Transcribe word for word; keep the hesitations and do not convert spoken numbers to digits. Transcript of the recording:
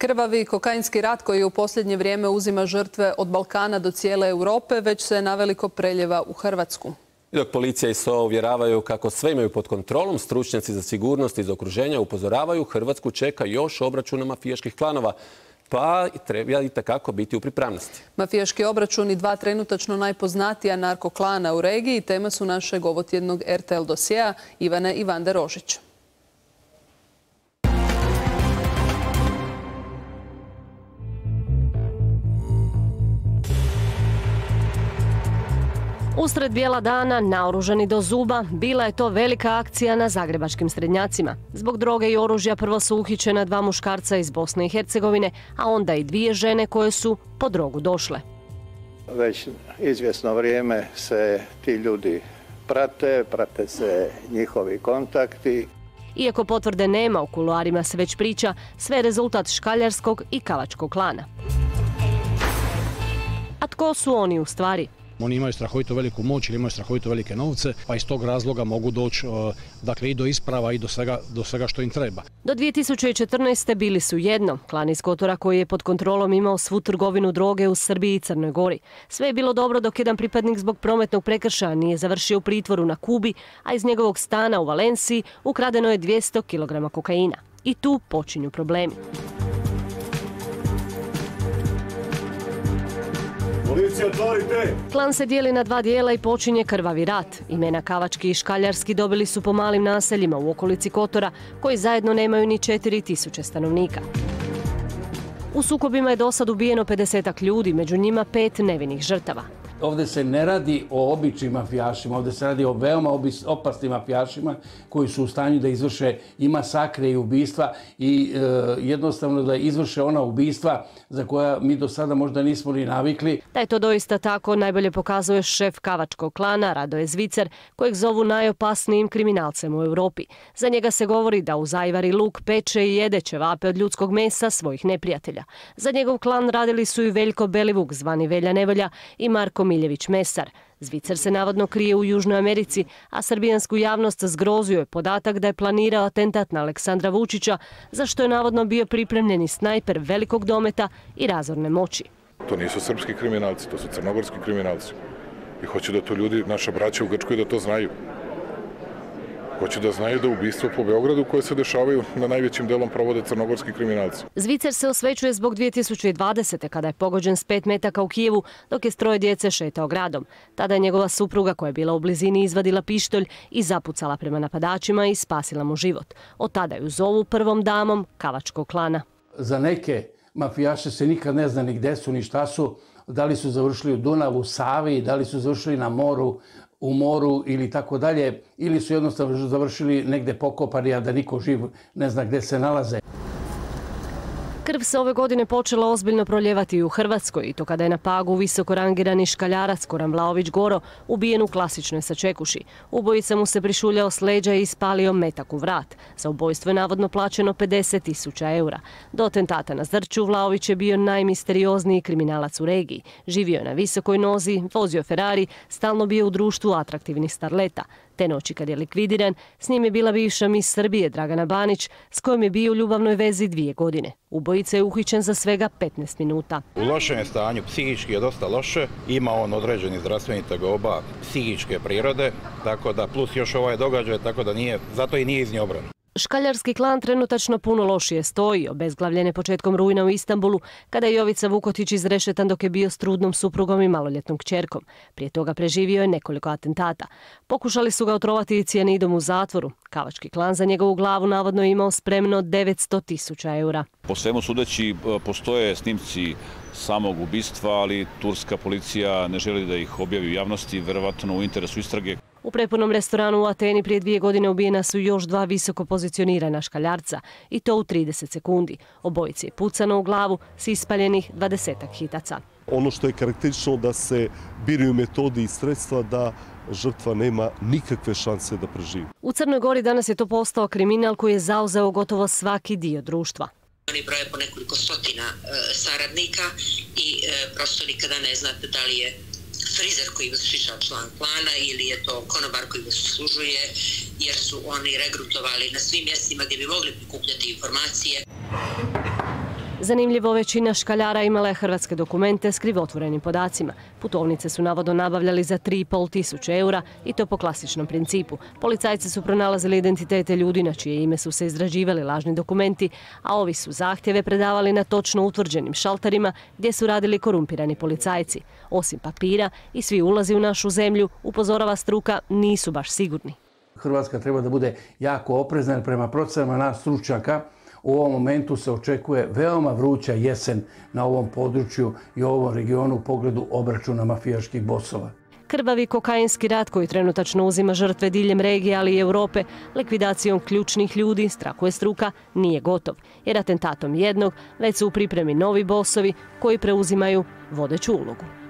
Krvavi kokainski rat koji u posljednje vrijeme uzima žrtve od Balkana do cijele Europe već se naveliko preljeva u Hrvatsku. I dok policija i S O A uvjeravaju kako sve imaju pod kontrolom, stručnjaci za sigurnost iz okruženja upozoravaju Hrvatsku čeka još obračuna mafijaških klanova, pa treba i takako biti u pripravnosti. Mafijaški obračuni dva trenutačno najpoznatija narkoklana u regiji tema su našeg ovotjednog R T L dosjea Ivane i Vande Rožić. Usred bijela dana, naoružani do zuba, bila je to velika akcija na zagrebačkim Srednjacima. Zbog droge i oružja prvo su uhićena dva muškarca iz Bosne i Hercegovine, a onda i dvije žene koje su po drogu došle. Već izvjesno vrijeme se ti ljudi prate, prate se njihovi kontakti. Iako potvrde nema, u kuloarima se već priča, sve je rezultat škaljarskog i kavačkog klana. A tko su oni u stvari? Oni imaju strahovito veliku moć ili imaju strahovito velike novce, pa iz tog razloga mogu doći dakle, i do isprava i do svega, do svega što im treba. Do dvije tisuće četrnaeste. bili su jedno, klan iz Kotora koji je pod kontrolom imao svu trgovinu droge u Srbiji i Crnoj Gori. Sve je bilo dobro dok jedan pripadnik zbog prometnog prekršaja nije završio u pritvoru na Kubi, a iz njegovog stana u Valenciji ukradeno je dvjesto kilograma kokaina. I tu počinju problemi. Klan se dijeli na dva dijela i počinje krvavi rat. Imena Kavački i Škaljarski dobili su po malim naseljima u okolici Kotora, koji zajedno nemaju ni četiri tisuće stanovnika. U sukobima je dosad ubijeno pedesetak ljudi, među njima pet nevinih žrtava. Ovdje se ne radi o običnim mafijašima, ovdje se radi o veoma opasnim mafijašima koji su u stanju da izvrše i masakre i ubistva i e, jednostavno da izvrše ona ubistva za koja mi do sada možda nismo ni navikli. Da je to doista tako najbolje pokazuje šef Kavačkog klana Radoje Zvicer, kojeg zovu najopasnijim kriminalcem u Europi. Za njega se govori da uz ajvar i luk peče i jede ćevape od ljudskog mesa svojih neprijatelja. Za njegov klan radili su i Veljko Belivuk, zvani Velja Nevolja, i Marko Miljević Mesar. Zvicer se navodno krije u Južnoj Americi, a srbijansku javnost zgrozio je podatak da je planirao atentat na Aleksandra Vučića, za što je navodno bio pripremljeni snajper velikog dometa i razorne moći. To nisu srpski kriminalci, to su crnogorski kriminalci. I hoće da to ljudi, naša braća u Grčkoj, da to znaju. Hoće da znaju da ubistva po Beogradu koje se dešavaju na najvećim delom provode crnogorski kriminalci. Zvicer se osvećuje zbog dvije tisuće dvadesete. kada je pogođen s pet metaka u Kijevu dok je s troje djece šetao gradom. Tada je njegova supruga koja je bila u blizini izvadila pištolj i zapucala prema napadačima i spasila mu život. Od tada ju zovu prvom damom Kavačkog klana. Za neke mafijaše se nikad ne zna ni gde su ni šta su, da li su završili u Dunavu, Savi, da li su završili na moru, u moru ili tako dalje, ili su jednostavno završili negde pokopani, a da niko živ ne zna gde se nalaze. Krv se ove godine počela ozbiljno proljevati i u Hrvatskoj, i to kada je na Pagu visoko rangirani škaljarac Goran Vlaović Goro ubijen u klasičnoj sačekuši. Ubojica mu se prišuljao s leđa i ispalio metak u vrat. Za ubojstvo je navodno plaćeno pedeset tisuća eura. Do atentata na Zrću Vlaović je bio najmisteriozniji kriminalac u regiji. Živio je na visokoj nozi, vozio Ferrari, stalno bio u društvu atraktivnih starleta. Te noći kad je likvidiran, s njim je bila bivša mis Srbije Dragana Banić, s kojom je bio u ljubavnoj vezi dvije godine. Ubojica je uhićen za svega petnaest minuta. U lošem je stanju, psihički je dosta loše, ima on određeni zdravstveni tegoba psihičke prirode, tako da plus još ovaj događaj, tako da nije, zato i nije iz nje obrana. Škaljarski klan trenutačno puno lošije stoji, obezglavljen je početkom rujna u Istanbulu, kada je Jovica Vukotić izrešetan dok je bio s trudnom suprugom i maloljetnom kćerkom. Prije toga preživio je nekoliko atentata. Pokušali su ga otrovati cijanidom u zatvoru. Kavački klan za njegovu glavu navodno imao spremno devetsto tisuća eura. Po svemu sudeći postoje snimci samog ubistva, ali turska policija ne želi da ih objavi u javnosti, verovatno u interesu istrage. U prepunom restoranu u Ateni prije dvije godine ubijena su još dva visoko pozicionirana škaljarca, i to u trideset sekundi. Obojici je pucano u glavu s ispaljenih dvadesetak hitaca. Ono što je karakteristično da se biraju metodi i sredstva da žrtva nema nikakve šanse da preživi. U Crnoj Gori danas je to postao kriminal koji je zauzeo gotovo svaki dio društva. Oni broje po nekoliko stotina e, saradnika i e, prosto nikada ne znate da li je frizer koji vas šiša član klana ili je to konobar koji vas uslužuje, jer su oni regrutovali na svim mjestima gdje bi mogli prikupljati informacije. Zanimljivo, većina škaljara imala je hrvatske dokumente s krivotvorenim podacima. Putovnice su navodno nabavljali za tri i pol tisuće eura i to po klasičnom principu. Policajci su pronalazili identitete ljudi na čije ime su se izrađivali lažni dokumenti, a ovi su zahtjeve predavali na točno utvrđenim šalterima gdje su radili korumpirani policajci. Osim papira i svi ulazi u našu zemlju, upozorava struka, nisu baš sigurni. Hrvatska treba da bude jako oprezna jer prema procenama nas stručnjaka u ovom momentu se očekuje veoma vruća jesen na ovom području i ovom regionu u pogledu obračuna mafijaških bosova. Krvavi kokainski rat koji trenutačno uzima žrtve diljem regije, ali i Europe, likvidacijom ključnih ljudi, strahuje struka, nije gotov. Jer atentatom jednog već su u pripremi novi bosovi koji preuzimaju vodeću ulogu.